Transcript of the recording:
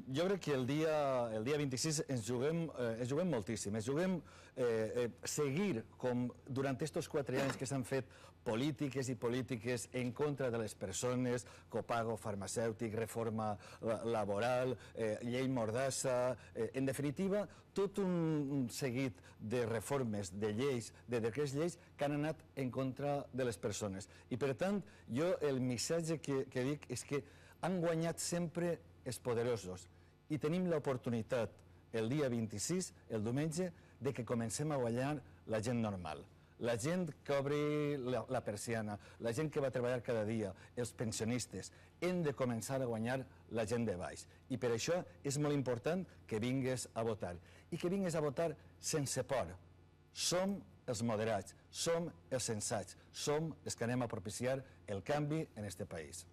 Jo crec que el dia 26 ens juguem moltíssim, ens juguem seguir com durant aquests 4 anys que s'han fet polítiques i polítiques en contra de les persones, copago farmacèutic, reforma laboral, llei mordassa, en definitiva, tot un seguit de reformes, de lleis, de decrets lleis que han anat en contra de les persones. I per tant, jo el missatge que dic és que han guanyat sempre els poderosos i tenim l'oportunitat el dia 26, el diumenge, de que comencem a guanyar la gent normal. La gent que obri la persiana, la gent que va treballar cada dia, els pensionistes, hem de començar a guanyar la gent de baix. I per això és molt important que vingues a votar. I que vingues a votar sense por. Som els moderats, som els sensats, som els que anem a propiciar el canvi en aquest país.